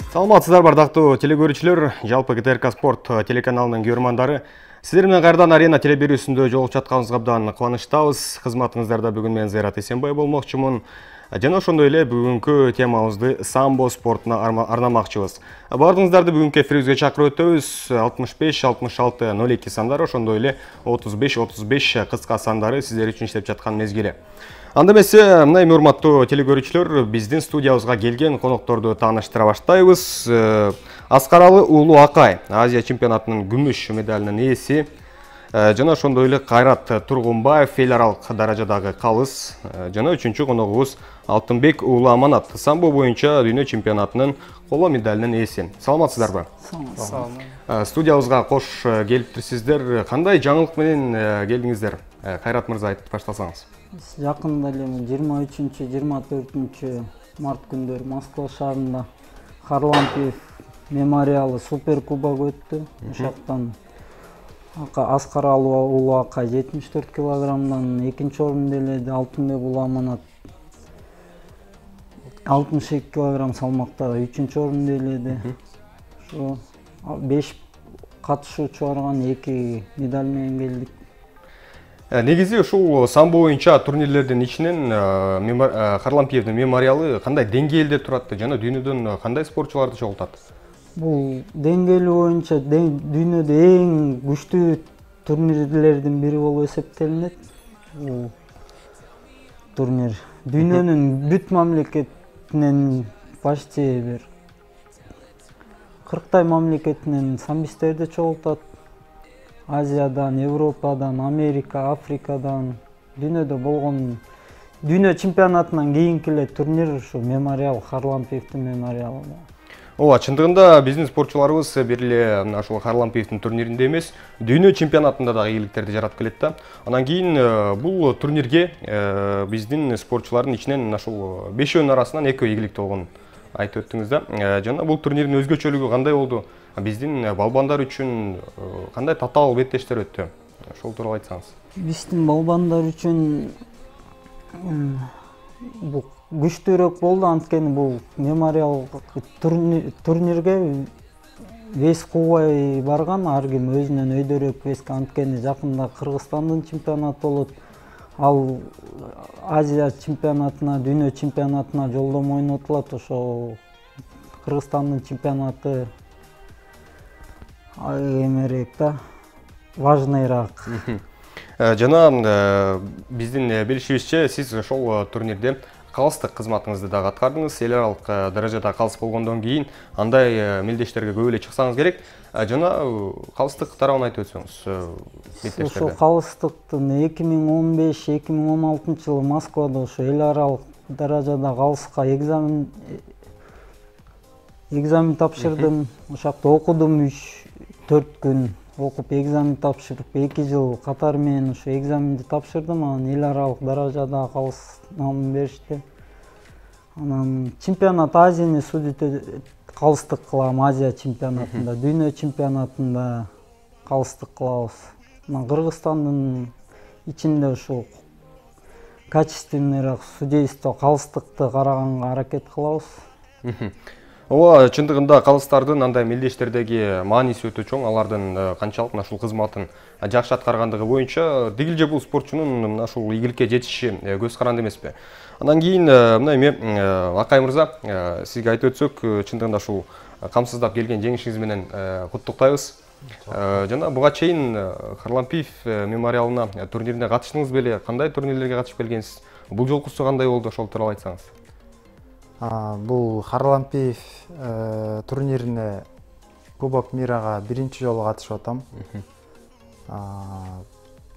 Саламатсыздар бардактуу телекөрүүчүлөр, жалпы ГТРК Спорт телеканалынын көрөрмандары. Сиздер менен кайрадан арена телебирүүсүндө жолугуп жатканыбызга абдан кубанычтабыз. Кызматыңыздарда бүгүн мен Зайрат Эсенбай болмокчумун. Жана ошондой эле бүгүнкү темабызды самбо спортуна арнамакчыбыз. Баардыгыңыздарды бүгүнкү эфирибизге чакырып өтөбүз. 65 66 02 сандары, ошондой эле 35 35 кыска сандары сиздер үчүн иштеп жаткан мезгили. Анда эмесе, мына эми урматтуу телекөрүүчүлөр, биздин студиябызга келген конокторду тааныштыра баштайбыз. Аскаралы Уулу Акай, Азия чемпионатынын күмүш медалынын ээси, жана ошондой эле Кайрат Тургунбаев, эл аралык даражадагы калыс, жана үчүнчү коногубуз Алтынбек Уулу Аманат, самбо боюнча дүйнө чемпионатынын коло медалынын ээси. Саламатсыздарбы? Салам. Студиябызга кош келиптирсиздер. Кандай жаңылык менен келдиңиздер? Кайрат мырза, айтып баштасаңыз. Жакында эле 23-24 март күндөрү Москва шаарында Харлампиев мемориалы супер кубок өттү. Ошоктон Аскаралы Уулу Акай 74 килограммдан экинчи орунду ээледи. Алтынбек Уулу Аманат 62 килограмм салмакта үчүнчү орунду ээледи. Ошо 5 катышуучу барган 2 медаль менен келдик. Негизи ушул самбо боюнча турнирлердин ичинен Харлампиевдин мемориалы кандай деңгээлде турат жана дүйнөдөн кандай спортчуларды чогултат? Бул деңгээли боюнча дүйнөдө эң күчтүү турнирлердин бири болуп эсептелинет. Бул турнир дүйнөнүн бүт мамлекетинен почти бир 40 мамлекетинен самбисттерди чогултат. Азиядан, Европадан, Америка, Африкадан, дүйнөдө болгон дүйнө чемпионатынан кийинки эле турнир ушу мемориал, Харлампиевдин мемориалы. Ооба, чындыгында биздин спортчуларыбыз бир эле ушул Харлампиевдин турниринде эмес, дүйнө чемпионатында дагы ийгиликтерди жаратып келет да. Анан кийин бул турнирге биздин спортчулардын ичинен ушул 5-өөнүн арасынан 2 ийгиликтүү болгонун айтып өттүңүз да. Жана бул турнирдин өзгөчөлүгү кандай болду? Биздин балбандар үчүн кандай татаал беттештер өттү? Ошол тууралуу айтсаңыз. Биздин балбандар үчүн бул күчтүүрөөк болду, анткени бул мемориал турнирге вес кубай барган, ар ким өзүнөн өйдөрөөк веске, анткени жакында Кыргызстандын чемпионаты болот. Ал Азия чемпионатына, дүйнө чемпионатына жолдомо ойнотулат. Ошо Кыргызстандын чемпионаты эмерээк да, важныйраак. Жана биздин билишибизче, сиз ошол турнирде калыстык кызматыңызды дагы аткардыңыз. Эл аралык даражада калыс болгондон кийин андай мелдештерге көп эле чыксаңыз керек. Жана калыстык тарабын айтып өтсөңүз. Ошо калыстыктын 2015-2016 жылы Москвада ошо эл аралык даражада калыска экзамен тапшырдым. Ошакта окудум 3-4 күн окуп экзамен тапшырып 2 жыл катары менен ошо экзаменди тапшырдым. Анан эл аралык даражада калыс намын беришти. Анан чемпионат Азияны судите калыстык кылам, Азия чемпионатында, дүйнө чемпионатында калыстык кылабыз. Анан Кыргызстандын ичинде ушул качественныйраак судейство калыстыкты караганга аракет кылабыз. Ооба, чындыгында калыстардын андай мелдештердеги мааниси өтө чоң. Алардын канчалык ушул кызматын жакшы аткаргандыгы боюнча дегилже бул спортчунун ушул ийгиликке жетиши көз каранды эмеспи? Андан кийин мына эми Акай мырза, сизге айтып өтсөк, чындыгында ушул камсыздап келген жеңишиңиз менен куттуктайбыз. Жана буга чейин Харлампиев мемориалына турнирине катыштыңыз беле? Кандай турнирлерге катышып келгенсиз? Бул жолкусу кандай болду? Ошол тууралуу айтсаңыз. Бул Харлампиев турнирине Кубок мирага биринчи жолу катышып атам.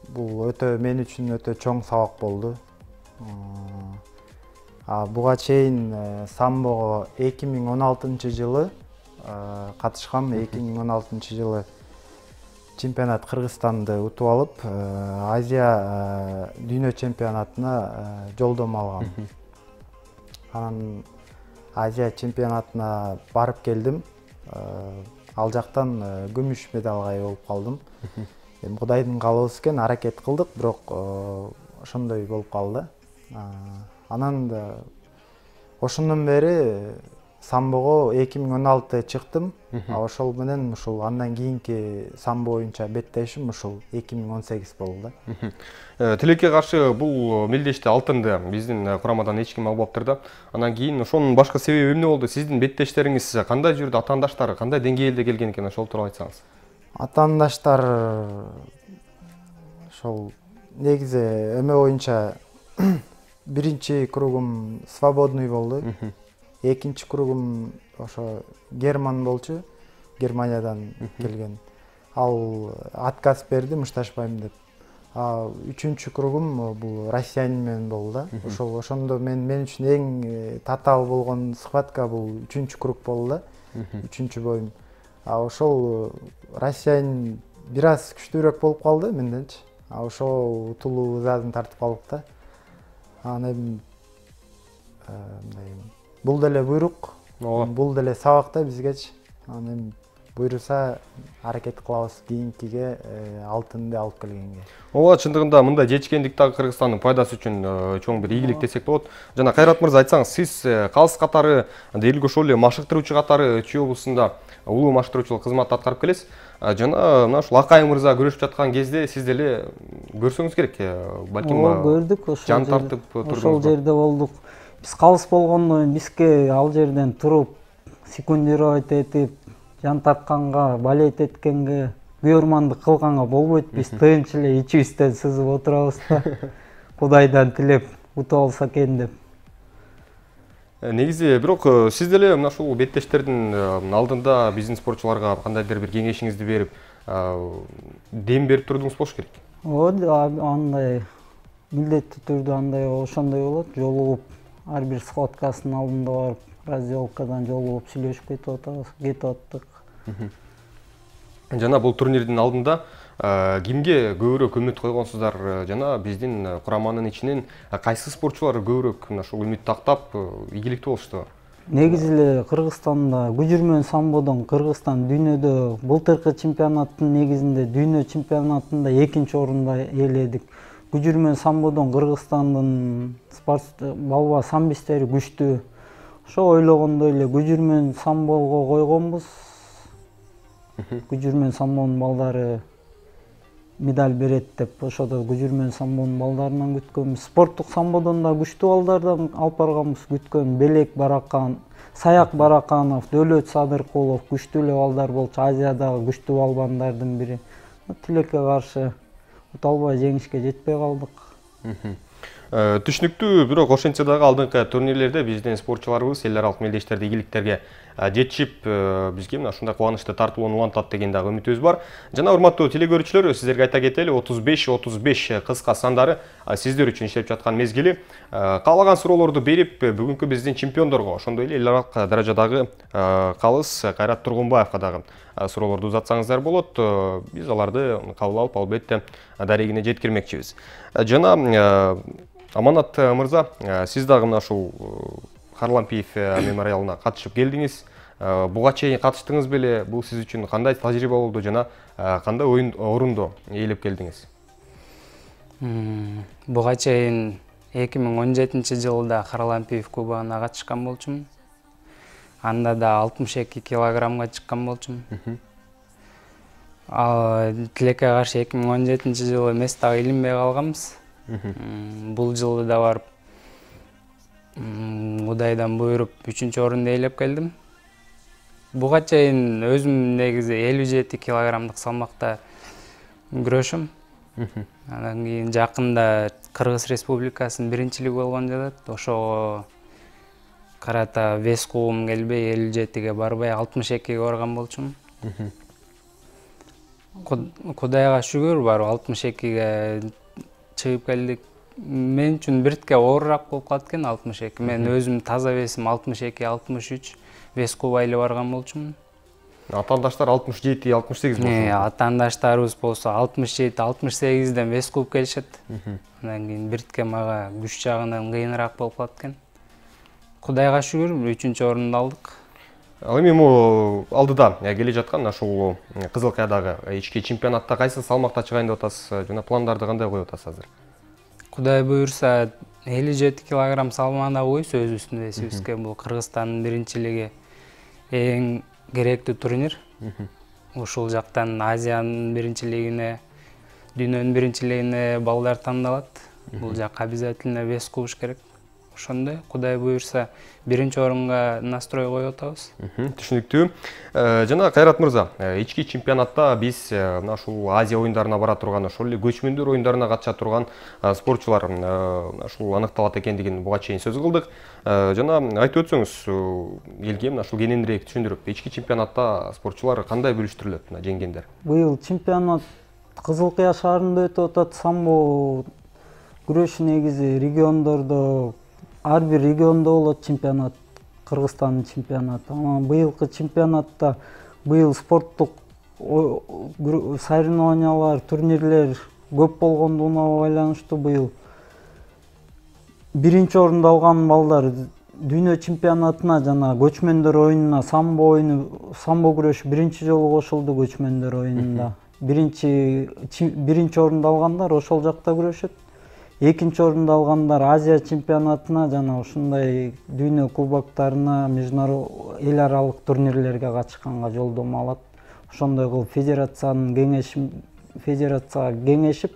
Бул өтө мен үчүн өтө чоң сабак болду. Буга чейин самбого 2016 жылы катышкам. 2016 жылы чемпионат Кыргызстанды утуп алып, Азия дүйнө чемпионатына жолдомо алгам. Анан Азия чемпионатына барып келдим. Ал жактан күмүш медалга ээ болуп калдым. Эми Кудайдын каалоосу экен, аракет кылдык, бирок ошондой болуп калды. Анан ошондон бери самбого 2016 чыктым. Ошол менен ушул андан кийинки самбо боюнча беттешим ушул 2018 болду да. Тилекке каршы бул мелдеште алтынды биздин курамадан эч ким албаптыр да. Анан кийин ошонун башка себеби эмне болду? Сиздин беттештериңиз кандай жүрдү, атаандаштар кандай деңгээлде келген экен, ошол тууралуу айтсаңыз. Атаандаштар ошол негизи эме боюнча биринчи кругум свободный болду. Экинчи кругум ошо Герман болчу, Германиядан келген. Ал отказ берди, мушташпайм деп. Үчүнчү кругум бул россиянин менен болду да. Ошондо мен үчүн эң татаал болгон схватка бул үчүнчү круг болду да. Үчүнчү боюм. Ошол россиянин бир аз күчтүүрөөк болуп калды менденчи. Ошол утулуу задын тартып калдык да. Анан бул деле буйрук, бул деле сабак да бизгечи. Анан буйруса аракет кылабыз кийинкиге алтынды алып келгенге. Ооба, чындыгында мындай жечкендик дагы Кыргызстандын пайдасы үчүн чоң бир ийгилик десек болот. Жана Кайрат мырза, айтсаңыз, сиз калыс катары, элге ошол эле машыктыруучу катары Чүй облусунда улуу машыктыруучулук кызматты аткарып келесиз. Жана мына ушул Акай мырза көрүшүп жаткан кезде сиз деле көрсөңүз керек. Балким көрдүк, жан тартып турдуңуз. Ошол жерде болдук. Биз калыс болгондон бизге ал жерден туруп секундировать этип, жан тартканга, балет эткенге, күйөрмандык кылганга болбойт. Биз тынч эле ичибизден сызып отурабыз да. Кудайдан тилеп утуп алса экен деп. Негизи бирок сиз деле мына ушул беттештердин алдында биздин спортчуларга кандайдыр бир кеңешиңизди берип, дем берип турдуңуз болуш керек. Ооба, андай милдеттүү түрдө андай ошондой болот. Жолугуп ар бир схваткасынын алдында барып, раздевалкадан жолугуп сүйлөшүп кетип аттык. Жана бул турнирдин алдында кимге көбүрөөк үмүт койгонсуздар, жана биздин кураманын ичинен кайсы спортчулар көбүрөөк мына ушул үмүт тактап ийгиликтүү болушту? Негизи эле Кыргызстанда күжүрмөн самбодон Кыргызстан дүйнөдө былтыркы чемпионаттын негизинде дүйнө чемпионатында 2-чи орунду ээледик. Күжүрмөн самбодон Кыргызстандын балба самбистери күчтүү. Ошо ойлогондой эле күжүрмөн самбого койгонбуз. Күжүрмөн самбонун балдары медаль берет деп ошодо күжүрмөн самбонун балдарынан күткөнбүз. Спорттук самбодон да күчтүү балдардан алып барганбыз күткөн. Белек Баракан, Саяк Бараканов, Дөөлөт Садыркулов күчтүү эле балдар болчу. Азиядагы күчтүү балбандардын бири. Тилекке каршы ута албай жеңишке жетпей калдык. Түшүнүктүү, бирок ошентсе дагы алдыңкы турнирлерде биздин спортчуларыбыз эл аралык мелдештерде ийгиликтерге жетишип, бизге мына ушундай кубанычты тартуулоону улантат деген дагы үмүтүбүз бар. Жана урматтуу телекөрүүчүлөр, сиздерге айта кетели, 35-35 кыска сандары сиздер үчүн иштеп жаткан мезгили. Каалаган суроолорду берип, бүгүнкү биздин чемпиондорго, ошондой эле эл аралык даражадагы калыс Кайрат Тургунбаевга дагы суроолорду узатсаңыздар болот. Биз аларды кабыл алып, албетте дарегине жеткирмекчибиз. Жана Аманат мырза, сиз дагы мына ушул Харлампиев мемориалына катышып келдиңиз. Буга чейин катыштыңыз беле? Бул сиз үчүн кандай тажрыйба болду жана кандай орунду ээлеп келдиңиз? Буга чейин 2017-жылда Харлампиев кубогуна катышкан болчумун. Анда да 62 килограммга чыккан болчумун. Тилекке каршы 2017-жылы эмес дагы илинбей калганбыз. Бул жылы да барып Кудайдан буйруп 3-чү орунду ээлеп келдим. Буга чейин өзүм негизи 57 килограммдык салмакта күрөшөм. Анан кийин жакында Кыргыз Республикасынын биринчилиги болгон жатат. Ошого карата вес кубум келбей 57ге барбай 62ге барган болчумун. Кудайга шүгүр барып 62ге чыгып келдик. Мен үчүн биртке оорураак болуп калат экен 62. Мен өзүм таза весим 62-63 вес кубайлы барган болчумун. Атаандаштар 67-68 болчу. Атаандаштарыбыз болсо 67-68ден вес куб келишет. Андан кийин биртке мага күч жагынан кыйыныраак болуп калат экен. Кудайга шүгүр 3-чү орунду алдык. Ал эми могу алдыда келе жаткан ушул Кызыл Кайдагы ички чемпионатта кайсы салмакта чыгайын деп атасыз жана пландарды кандай коюп атасыз азыр? Кудай буйрса 57 килограмм салмагында койсо өзүбүздүн весибизге бул Кыргызстандын биринчилиги эң керектүү турнир. Ушул жактан Азиянын биринчилигине, дүйнөнүн биринчилигине балдар тандалат. Бул жакка обязательно вес кубуш керек. Ошондой, Кудай буйрса, биринчи орунга настрой коюп атабыз. Түшүнүктүү. Жана Кайрат мырза, ички чемпионатта биз мына ушул Азия оюндарына бара турган, ошол эле көчмөндөр оюндарына катыша турган спортчулар ушул аныкталат экендигин буга чейин сөз кылдык. Жана айтып өтсөңүз, элге мына ушул кененирээк түшүндүрүп, ички чемпионатта спортчулар кандай бөлүштүрүлөт, мына жеңгендер? Быйыл чемпионат Кызыл Кыя шаарында өтүп атат. Самбо күрөшү негизи региондордо, ар бир региондо болот чемпионат, Кыргызстандын чемпионаты. Быйылкы чемпионатта быйыл спорттук соревнованиялар, турнирлер көп болгондугуна байланыштуу быйыл биринчи орунду алган балдар дүйнө чемпионатына жана көчмөндөр оюнуна самбо күрөшү биринчи жолу кошулду. Көчмөндөр оюнунда биринчи орунду алгандар ошол жакта күрөшөт. Экинчи орунду алгандар Азия чемпионатына жана ушундай дүйнө кубоктарына, эл аралык турнирлерге катышканга жолдомо алат. Ошондой кылып федерацияга кеңешип,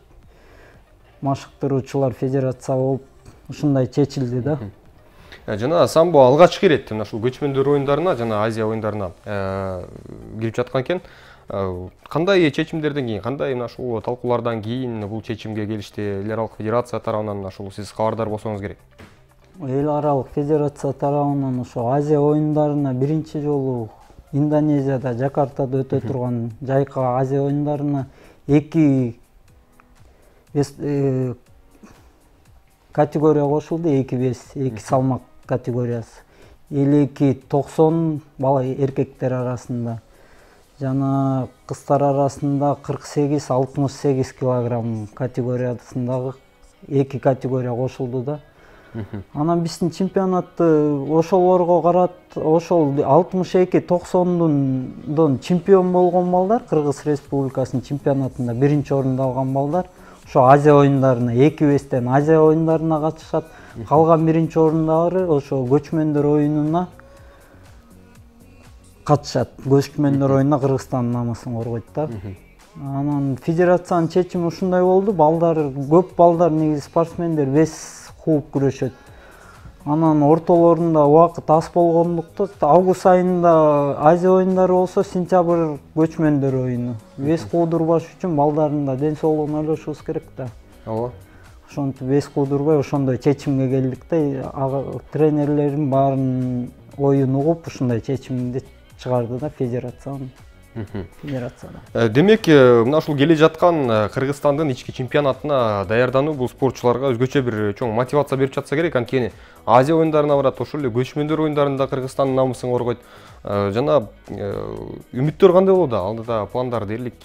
машыктыруучулар федерация болуп ушундай чечилди да. Жана самбо алгачкы ирет мына ушул көчмөндөр оюндарына жана Азия оюндарына кирип жаткан экен. Кандай чечимдерден кийин, кандай мына ушул талкуулардан кийин бул чечимге келишти? Эл аралык федерация тарабынан ушул сиз кабардар болсоңуз керек. Эл аралык федерация тарабынан ошо Азия оюндарына биринчи жолу Индонезияда, Жакартада өтө турган жайкы Азия оюндарына 2 категория кошулду, 2 вес, 2 салмак категориясы. 52-90 бала эркектер арасында. Жана кыздар арасында 48-68 килограмм категориясындагы 2 категория кошулду да. Анан биздин чемпионатты ошолорго карат, ошол 62-90дон чемпион болгон балдар, Кыргыз Республикасынын чемпионатында биринчи орунду алган балдар ошо Азия оюндарына, 2 вестен Азия оюндарына катышат. Калган биринчи орундагылар ошо көчмөндөр оюнуна катышат. Көчмөндөр оюнуна Кыргызстандын намысын коргойт да. Анан федерациянын чечими ушундай болду. Көп балдар негизи спортсмендер вес кууп күрөшөт. Анан ортолорунда убакыт аз болгондуктан август айында Азия оюндары болсо, сентябрь көчмөндөр оюну. Вес куудурбаш үчүн балдардын ден соолугун ойлошубуз керек да. Ооба. Ошентип вес куудурбай ошондой чечимге келдик да. Тренерлердин баарын оюн угуп ушундай чечимди чыгарды да федерацияда. Демек, мына ушул келе жаткан Кыргызстандын ички чемпионатына даярдануу бул спортчуларга өзгөчө бир чоң мотивация берип жатса керек. Анткени Азия оюндарына барат, ошол эле көчмөндөр оюндарында Кыргызстандын намысын коргойт. Жана үмүттөр кандай болот? Алдыда пландар дээрлик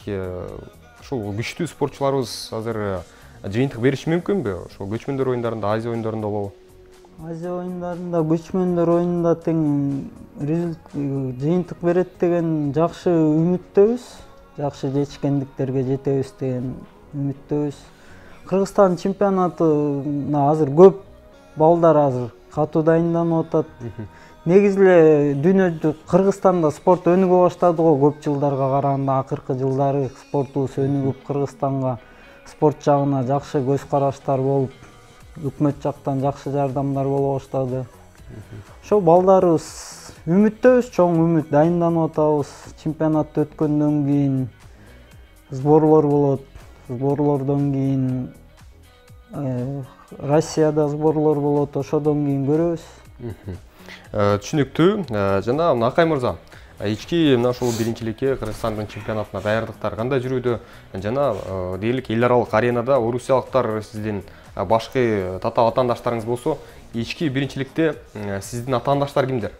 ушул күчтүү спортчуларыбыз азыр жыйынтык бериши мүмкүнбү? Ошол көчмөндөр оюндарында, Азия оюндарында болобу? Азия оюндарында, көчмөндөр оюнунда тең жыйынтык берет деген жакшы үмүттөбүз. Жакшы жетишкендиктерге жетебиз деген үмүттөбүз. Кыргызстан чемпионатына азыр көп балдар азыр катуу дайынданып атат. Негизи эле дүйнөдө Кыргызстанда спорт өнүгө баштады го көп жылдарга караганда. Акыркы жылдары спортубуз өнүгүп, Кыргызстанга спорт жагына жакшы көз караштар болуп, өкмөт жактан жакшы жардамдар боло баштады. Ошо балдарыбыз үмүттөбүз, чоң үмүт, дайынданып атабыз. Чемпионат өткөндөн кийин сборлор болот. Сборлордон кийин Россияда сборлор болот. Ошодон кийин көрөбүз. Түшүнүктүү. Жана Акай мырза, ички мына ушул биринчиликке Кыргызстандын чемпионатына даярдыктар кандай жүрүүдө? Жана дээрлик эл аралык аренада орусиялыктар сиздин башкы татаал атаандаштарыңыз болсо, ички биринчиликте сиздин атаандаштар кимдер?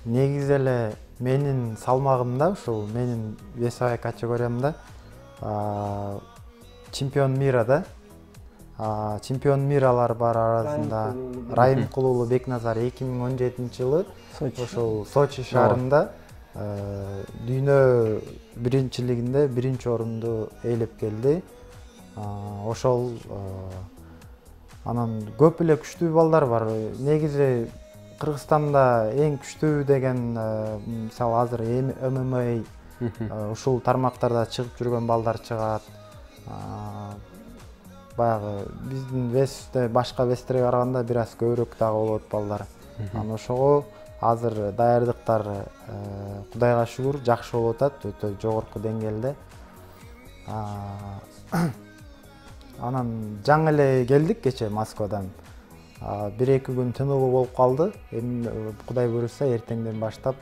Негизи эле менин салмагымда, ушул менин весовой категориямда чемпион мира чемпион миралар бар арасында Райымкулуулу Бекназар 2017-жылы ошол Сочи шаарында дүйнө биринчилигинде биринчи орунду ээлеп келди. Ошол анан көп эле күчтүү балдар бар. Негизи Кыргызстанда эң күчтүү деген мисалы азыр ММА ушул тармактарда чыгып жүргөн балдар чыгат. Баягы биздин весте башка вестерге караганда бир аз көбүрөөк дагы болот балдар. Анан ошого азыр даярдыктар Кудайга шүгүр жакшы болуп атат, өтө жогорку деңгээлде. Анан жаңы эле келдик кече Москвадан. 1-2 күн тынуу болуп калды. Эми Кудай буйруса эртеңден баштап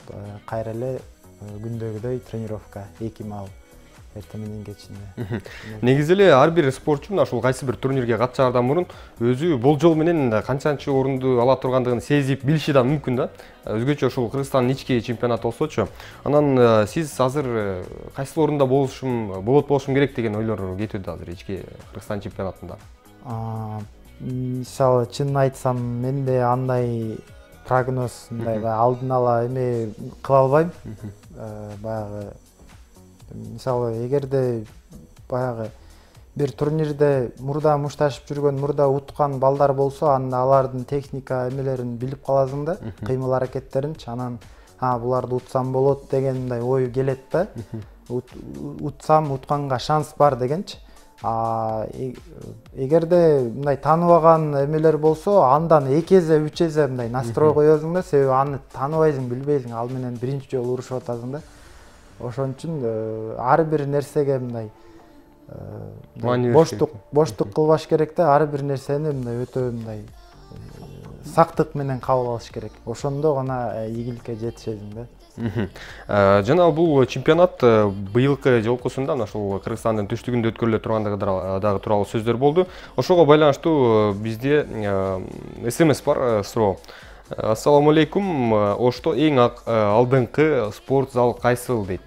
кайра эле күндөгүдөй тренировка 2 маал эртең менен кечинде. Негизи эле ар бир спортчу мына ушул кайсы бир турнирге катышаардан мурун өзү болжол менен канчанчы орунду ала тургандыгын сезип билиши да мүмкүн да. Өзгөчө ушул Кыргызстандын ички чемпионаты болсочу. Анан сиз азыр кайсы орунда болушум керек деген ойлор кетүүдө азыр ички Кыргызстан чемпионатында. Мисалы чынын айтсам, менде андай прогноз, алдын ала эме кыла албайм. Баягы мисалы эгерде баягы бир турнирде мурда мушташып жүргөн, мурда уткан балдар болсо, анда алардын техника эмелерин билип каласың да, кыймыл аракеттеринчи. Анан буларды утсам болот деген мындай ой келет да. Утсам утканга шанс бар дегенчи. Эгерде мындай тааныбаган эмелер болсо, андан 2 эзе 3 эзе мындай настрой коесуң да, себеби аны тааныбайсың, билбейсиң, ал менен биринчи жолу урушуп атасың да. Ошон үчүн ар бир нерсеге мындай боштук кылбаш керек да, ар бир нерсени мындай өтө мындай сактык менен кабыл алыш керек. Ошондо гана ийгиликке жетишесиң да. Жана бул чемпионат быйылкы жолкусунда ушул Кыргызстандын түштүгүндө өткөрүлө тургандыгы дагы тууралуу сөздөр болду. Ошого байланыштуу бизде СМС бар, суроо. Ассаламу алейкум. Ошто эң алдыңкы спорт зал кайсыл дейт.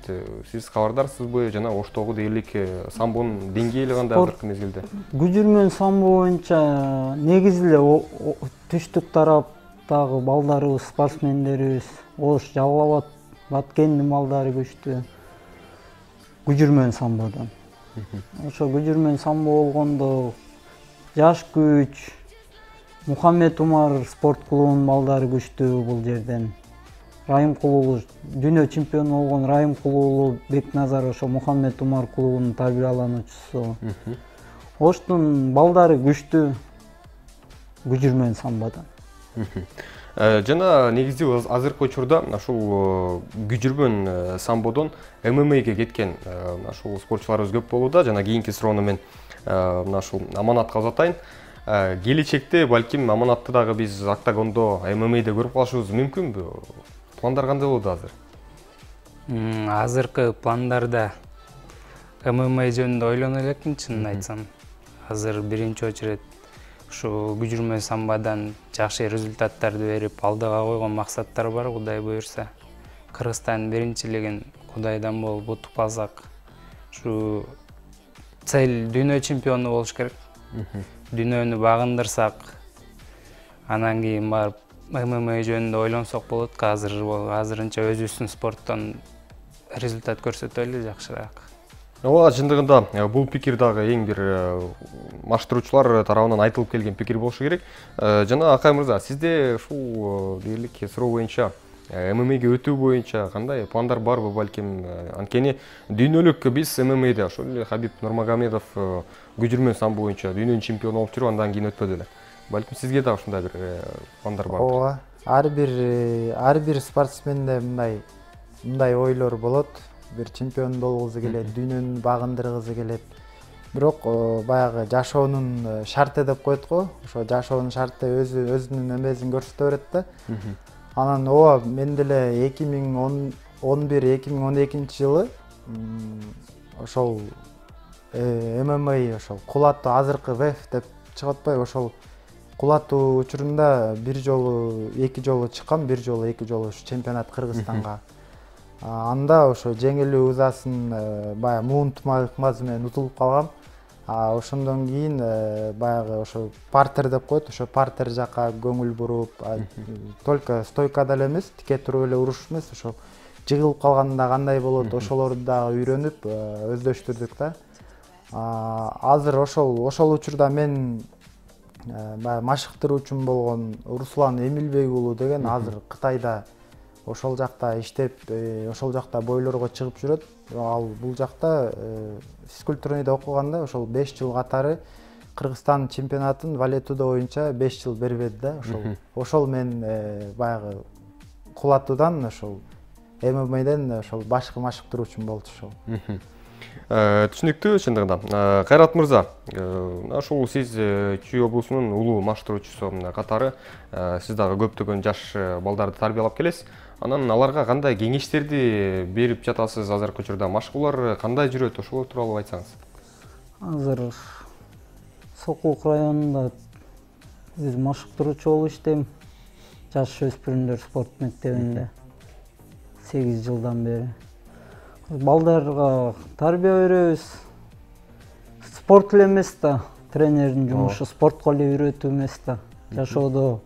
Сиз кабардарсызбы? Жана Оштогу дээрлик самбонун деңгээли кандай азыркы мезгилде? Күжүрмөн самбо боюнча негизи эле түштүк тараптагы балдарыбыз, спортсмендерибиз Ош, Жалал Абад, Баткендин балдары күчтүү. Күжүрмөн самбодон. Ошо күжүрмөн самбо болгондо жаш күч, Мухаммед Умар спорт клубунун балдары күчтүү бул жерден. Райымкулуу дүйнө чемпиону болгон Райымкулуу Бекназар ошо Мухаммед Умар клубунун тарбиялануучусу. Оштун балдары күчтүү күжүрмөн самбодон. Жана негизи азыркы учурда ушул күжүрмөн самбодон ММАге кеткен ушул спортчуларыбыз көп болууда. Жана кийинки суроону мен мына ушул Аманатка узатайын. Келечекте балким Аманатты дагы биз октагондо ММАде көрүп калышыбыз мүмкүнбү? Пландар кандай болду азыр? Азыркы пландарда ММА жөнүндө ойлоно элекмин, чынын айтсам. Азыр биринчи очередь ушу күжүрмөн самбадан жакшы результаттарды берип, алдыга койгон максаттар бар, Кудай буйруса. Кыргызстан биринчилигин Кудайдан болуп утуп алсак, ушу цель дүйнө чемпиону болуш керек. Дүйнөнү багындырсак, анан кийин барып ММА жөнүндө ойлонсок болот. Азырынча өзүбүздүн спорттон результат көрсөтөлү жакшыраак. Ооба, чындыгында бул пикир дагы эң бир маштыруучулар тарабынан айтылып келген пикир болушу керек. Жана Акай мырза, сизде ушул дээрлик суроо боюнча ММАге өтүү боюнча кандай пландар барбы балким? Анткени дүйнөлүк биз ММАде ошол эле Хабиб Нурмагомедов күжүрмөн самбо боюнча дүйнөнүн чемпиону болуп жүрүп, андан кийин өтпөдү эле. Балким сизге да ушундай бир пландар барбы? Ооба, ар бир спортсменде мындай ойлор болот. Бир чемпион болгузу келет, дүйнөнү багындыргысы келет. Бирок баягы жашоонун шарты деп коет го. Ошо жашоонун шарты өзүнүн эмесин көрсөтө берет да. Анан ооба, мен деле 2011-2012 жылы ошол ММА ошол кулаттуу азыркы ВФ деп чыгып атпайбы, ошол кулаттуу учурунда бир жолу, 2 жолу чыккам, бир жолу, 2 жолу чемпионат Кыргызстанга. Анда ошо жеңилүү ызасын баягы муун тумагы менен утулуп калгам. Ошондон кийин баягы ошо партер деп коет, ошо партер жака көңүл буруп, только стойкада эле эмес, тике туруп эле уруш эмес, ошо жыгылып калганда кандай болот, ошолорду дагы үйрөнүп өздөштүрдүк да. Азыр ошол учурда мен баягы машыктыруучум болгон Руслан Эмилбек уулу деген азыр Кытайда ошол жакта иштеп, ошол жакта бойлорго чыгып жүрөт. Ал бул жакта физкультурныйда окуганда ошол 5 жыл катары Кыргызстан чемпионатын валетудо боюнча 5 жыл бербеди да. Ошол мен баягы кулатуудан ошол ММАден ошол башкы машыктыруучум болчу ошол. Түшүнүктүү чындыгында. Кайрат мырза, ушул сиз Чүй облусунун улуу машыктыруучусу катары сиз дагы көптөгөн жаш балдарды тарбиялап келесиз. Анан аларга кандай кеңештерди берип жатасыз азыркы учурда? Машыгуулар кандай жүрөт? Ошол тууралуу айтсаңыз. Азыр Сокулук районунда өз машыктыруучу болуп иштейм. Жаш өспүрүмдөр спорт мектебинде 8 жылдан бери. Балдарга тарбия беребиз. Спорт эле эмес да, тренердин жумушу спортко эле үйрөтүү эмес да. Жашоодо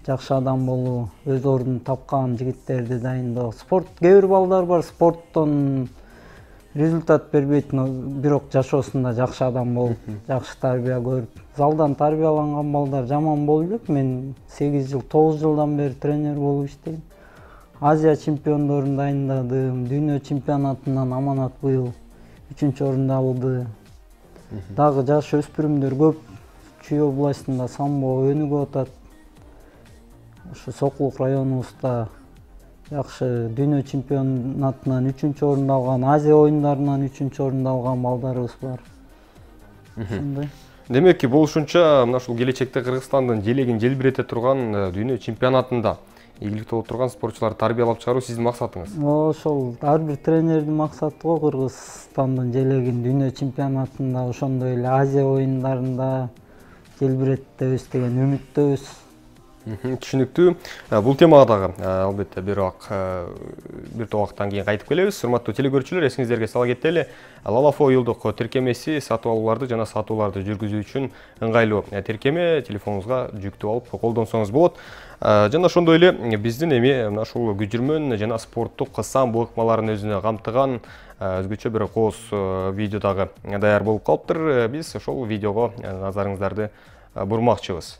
жакшы адам болуу, өз ордун тапкан жигиттерди дайындоо. Спорт, кээ бир балдар бар, спорттон результат бербейт, бирок жашоосунда жакшы адам болуп, жакшы тарбия көрүп, залдан тарбияланган балдар жаман болбой элек. Мен 8 жыл, 9 жылдан бери тренер болуп иштейм. Азия чемпиондорун дайындадым, дүйнө чемпионатынан Аманат быйыл 3-орунду алды. Дагы жаш өспүрүмдөр көп. Чүй областында самбо өнүгүп атат. Ошо Сокулук районубузда жакшы дүйнө чемпионатынан 3-орунду алган, Азия оюндарынан 3-орунду алган балдарыбыз бар. Ошондой. Демек, болушунча мына ушул келечекте Кыргызстандын желегин желбирете турган дүйнө чемпионатында ийгиликтүү болуп турган спортчуларды тарбиялап чыгаруу сиздин максатыңыз. Ошол ар бир тренердин максаты го Кыргызстандын желегин дүйнө чемпионатында, ошондой эле Азия оюндарында желбиреттебиз деген үмүттөбүз. Түшүнүктүү. Бул темага дагы албетте бир убакыттан кийин кайтып келебиз. Урматтуу телекөрүүчүлөр, эсиңиздерге сала кетели. Лалафо уюлдук тиркемеси сатып алууларды жана сатууларды жүргүзүү үчүн ыңгайлуу тиркеме, телефонуңузга жүктөп алып колдонсоңуз болот. Жана ошондой эле биздин эми мына ушул күжүрмөн жана спорттук самбо ыкмаларын өзүнө камтыган өзгөчө бир кооз видео дагы даяр болуп калыптыр. Биз ошол видеого назарыңыздарды бурмакчыбыз.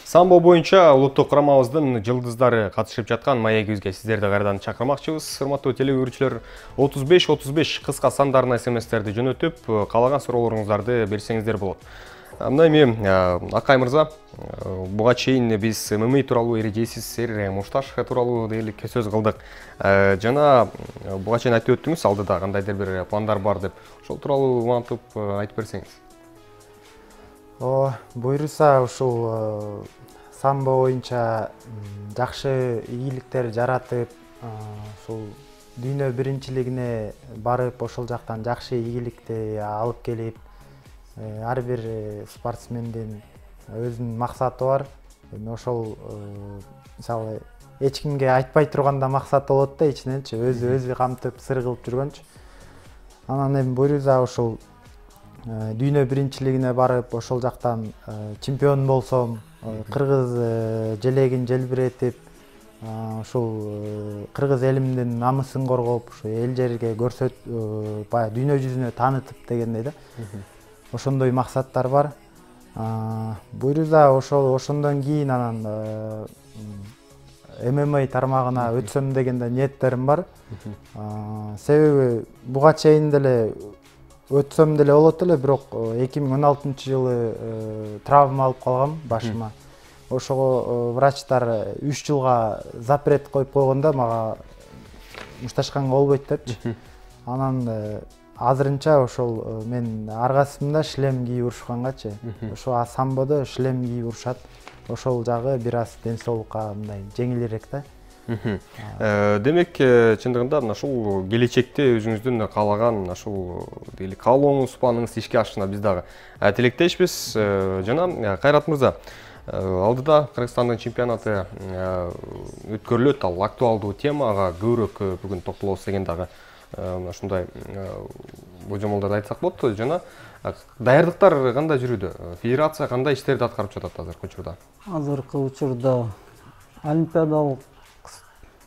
Самбо боюнча улуттук курамабыздын жылдыздары катышып жаткан маегибизге сиздерди кайрадан чакырмакчыбыз. Урматтуу телекөрүүчүлөр, 35-35 кыска сандарына смстерди жөнөтүп, каалаган суроолоруңуздарды берсеңиздер болот. Мына эми Акай мырза, буга чейин биз ММА тууралуу эрежесиз мушташ тууралуу дээрлик сөз кылдык. Жана буга чейин айтып өттүңүз, алдыда кандайдыр бир пландар бар деп. Ошол тууралуу улантып айтып берсеңиз. Буюрса ушул самбо боюнча жакшы ийгиликтер жаратып, ушул дүйнө биринчилигине барып, ошол жактан жакшы ийгиликти алып келип, ар бир спортсмендин өзүнүн максаты бар. Эми ошол мисалы эч кимге айтпай турганда максат болот да, ичиненчи өзү камтып сыр кылып жүргөнчү. Анан эми буюрса ушул дүйнө биринчилигине барып, ошол жактан чемпион болсом, кыргыз желегин желбиретип, ушул кыргыз элимдин намысын коргоп, ушу эл жерге көрсөтүп, баягы дүйнө жүзүнө таанытып дегендей да. Ошондой максаттар бар. Буюрса ошондон кийин анан ММА тармагына өтсөм деген ниеттерим бар. Себеби буга чейин деле өтсөм деле болот эле, бирок 2016-жылы травма алып калгам башыма. Ошого врачтар 3 жылга запрет коюп койгондо мага мушташканга болбойт депчи. Анан азырынча ошол мен аргасымда шлем кийип урушкангачы. Ошо самбодо шлем кийип урушат. Ошол жагы бир аз ден соолукка мындай жеңилирээк да. Демек, чындыгында ушул келечекте өзүңүздүн каалаган ушул каалооңуз, планыңыз ишке ашышына биз дагы тилектешпиз. Жана Кайрат мырза, алдыда Кыргызстандын чемпионаты өткөрүлөт, ал актуалдуу тема, ага көбүрөөк бүгүн токтолобуз деген дагы ушундай божомолдорду айтсак болот. Жана даярдыктар кандай жүрүүдө? Федерация кандай иштерди аткарып жатат азыркы учурда? Азыркы учурда олимпиадалык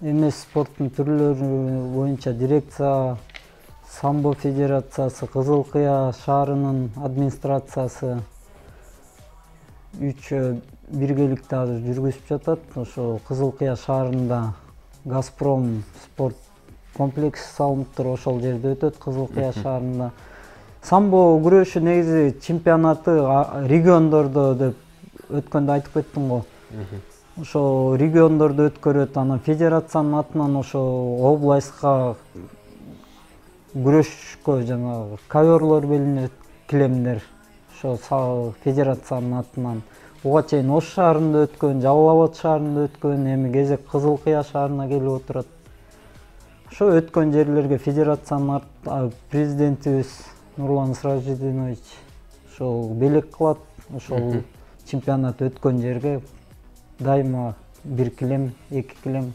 эмес спорттун түрлөрү боюнча дирекция самбо федерациясы, Кызыл Кыя шаарынын администрациясы үчөө биргеликте азыр жүргүзүп жатат. Ошо Кызыл Кыя шаарында Газпром спорт комплекси салынып туруп, ошол жерде өтөт Кызыл Кыя шаарында. Самбо күрөшү негизи чемпионаты региондордо деп өткөндө айтып кеттим го. Ошо региондордо өткөрөт, анан федерациянын атынан ошо областка күрөшкө жанагы коверлор белинет, килемдер. Ошо федерациянын атынан буга чейин Ош шаарында өткөн, Жалал Абад шаарында өткөн, эми кезек Кызыл Кыя шаарына келип отурат. Ошо өткөн жерлерге федерациянын президентибиз Нурлан Сыражидинович ошол белек кылат. Ошол чемпионат өткөн жерге дайыма 1 килем, 2 килем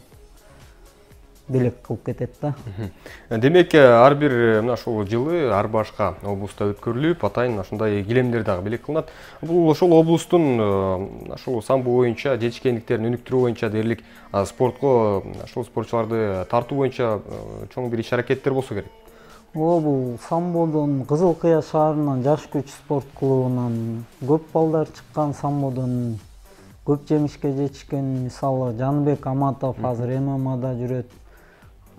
белек кылып кетет да. Демек, ар бир мына ушул жылы ар башка облуста өткөрүлүп, атайын ушундай килемдер дагы белек кылынат. Бул ошол облустун ушул самбо боюнча жетишкендиктерин өнүктүрүү боюнча дээрлик спортко ушул спортчуларды тартуу боюнча чоң бир иш-аракеттер болсо керек. Бул самбодон Кызыл Кыя шаарынан жаш күч спорт клубунан көп балдар чыккан, самбодон көп жемишке жетишкен. Мисалы Жаныбек Аматов азыр ММАда жүрөт.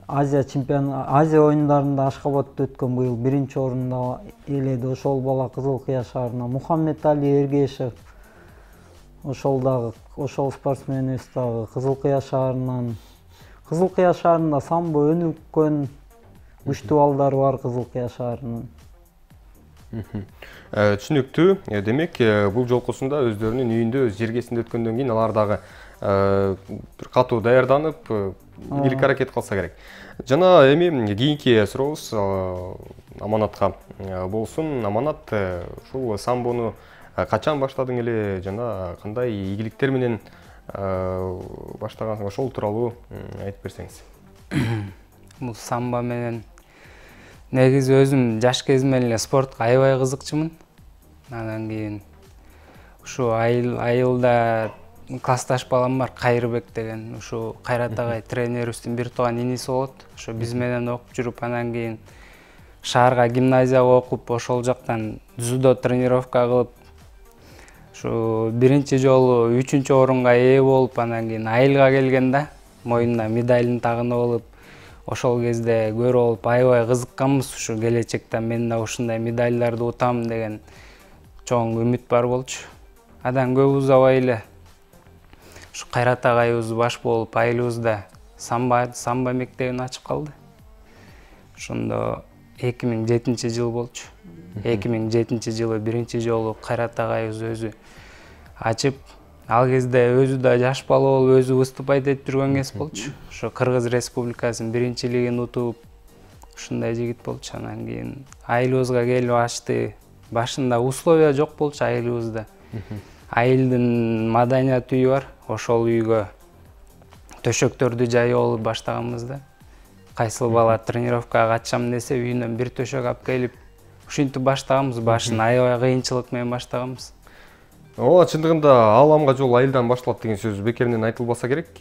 Азия оюндарында Ашхабадта өткөн быйыл 1-орунду ээледи. Ошол бала Кызыл Кыя шаарына. Мухаммед Али Эргешев ошол спортсменибиз дагы Кызыл Кыя шаарынан. Кызыл Кыя шаарында самбо өнүккөн, күчтүү балдар бар Кызыл Кыя шаарынын. Түшүнүктүү. Демек, бул жолкусунда өздөрүнүн үйүндө, өз жергесинде өткөндөн кийин алар дагы бир катуу даярданып, ийгилик аракет кылса керек. Жана эми кийинки сурообуз Аманатка болсун. Аманат, ушул самбону качан баштадың эле жана кандай ийгиликтер менен баштагансың, ошол тууралуу айтып берсеңиз. Бул самбо менен негизи өзүм жаш кезимден эле спортко аябай кызыкчумун. Андан кийин ушу айылда классташ балам бар, Кайрыбек деген. Ушу Кайрат агай тренерибиздин бир тууган иниси болот. Ошо биз менен окуп жүрүп, андан кийин шаарга гимназияга окуп, ошол жактан дзюдо тренировка кылып, ушу биринчи жолу 3-орунга ээ болуп, андан кийин айылга келген да, моюнуна медалын тагынып алып, ошол кезде көрүп алып аябай кызыкканбыз. Ушу келечекте мен да ушундай медалдарды утам деген чоң үмүт бар болчу. Андан көп узабай эле ушу Кайрат агайыбыз баш болуп, айылыбызда самбо мектебин ачып калды. Ошондо 2007-жыл болчу. 2007-жылы биринчи жолу Кайрат агайыбыз өзү ачып, ал кезде өзү да жаш бала болуп, өзү выступать этип жүргөн кез болчу. Ошо Кыргыз Республикасынын биринчилигин утуп, ушундай жигит болчу. Андан кийин айылыбызга келип ачты. Башында условия жок болчу айылыбызда. Айылдын маданият үйү бар. Ошол үйгө төшөктөрдү жайып алып баштаганбыз да. Кайсыл бала тренировкага катышам десе, үйүнөн бир төшөк алып келип, ушинтип баштаганбыз. Башын аябай кыйынчылык менен баштаганбыз. Ооба, чындыгында ааламга жол айылдан башталат деген сөз бекеринен айтылбаса керек.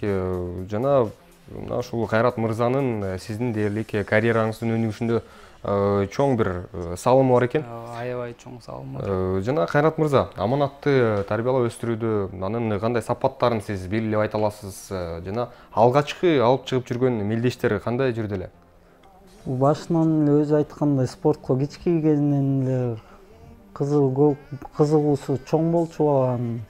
Жана мына ушул Кайрат мырзанын сиздин дээрлик карьераңыздын өнүгүшүндө чоң бир салымы бар экен. Аябай чоң салымы бар. Жана Кайрат мырза, Аманатты тарбиялап өстүрүүдө анын кандай сапаттарын сиз белгилеп айта аласыз? Жана алгачкы алып чыгып жүргөн мелдештер кандай жүрдү эле? Башынан эле өзү айткандай, спортко кички кезинен эле кызыгуусу чоң болчу баланын.